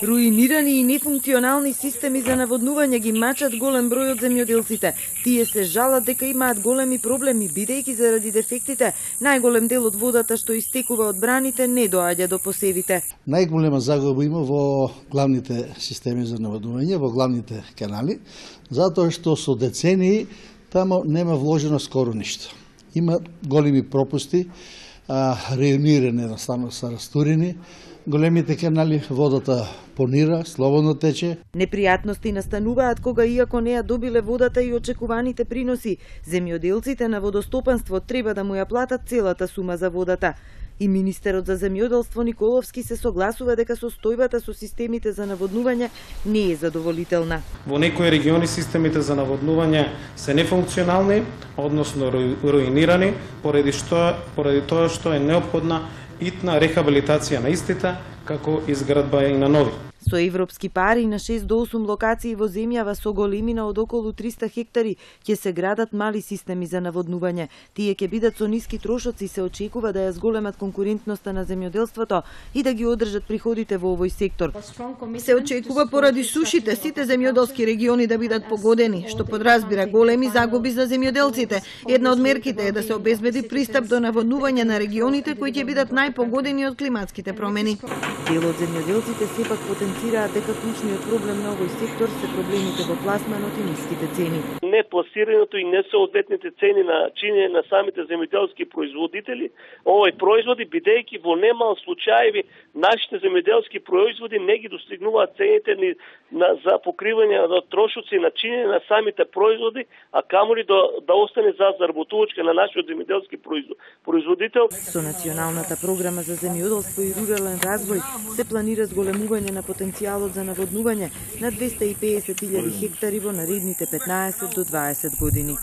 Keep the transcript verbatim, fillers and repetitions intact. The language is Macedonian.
Руинирани и нефункционални системи за наводнување ги мачат голем број од земјоделците. Тие се жалат дека имаат големи проблеми, бидејќи заради дефектите најголем дел од водата што истекува од браните не доаѓа до посевите. Најголема загуба има во главните системи за наводнување, во главните канали, затоа што со децении тамо нема вложено скоро ништо. Има големи пропусти, реунирани едноставно са растурени, големите канали, водата понира, слободно тече. Непријатности настануваат кога иако не ја добиле водата и очекуваните приноси, земјоделците на водостопанство треба да му ја платат целата сума за водата. И министерот за земјоделство Николовски се согласува дека состојбата со системите за наводнување не е задоволителна. Во некои региони системите за наводнување се нефункционални, односно руинирани, поради што поради тоа што е неопходна итна рехабилитација на истите, како изградба и на нови. Со европски пари на шест до осум локации во земјава со големина од околу триста хектари ќе се градат мали системи за наводнување. Тие ќе бидат со ниски трошоци и се очекува да ја зголемат конкурентноста на земјоделството и да ги одржат приходите во овој сектор. Се очекува поради сушите сите земјоделски региони да бидат погодени, што подразбира големи загуби за земјоделците. Една од мерките е да се обезбеди пристап до наводнување на регионите кои ќе бидат најпогодени од климатските промени. Дел од земјоделците сепак потенцираат дека клучниот проблем на овој сектор се проблемите во пласманот и ниските цени. Непласираното и несоодветните цени на чинење на самите земјоделски производители, овој производи, бидејќи во немал случаеви нашите земјоделски производи не ги достигнуваат цените ни на, за покривање на трошоци на чинење на самите производи, а камоли да, да остане за заработувачка на нашиот земјоделски производител. Со националната програма за земјоделство и рурален развој се планира зголемување на потенцијалот за наводнување на двесте и педесет илјади хектари во наредните петнаесет до дваесет години.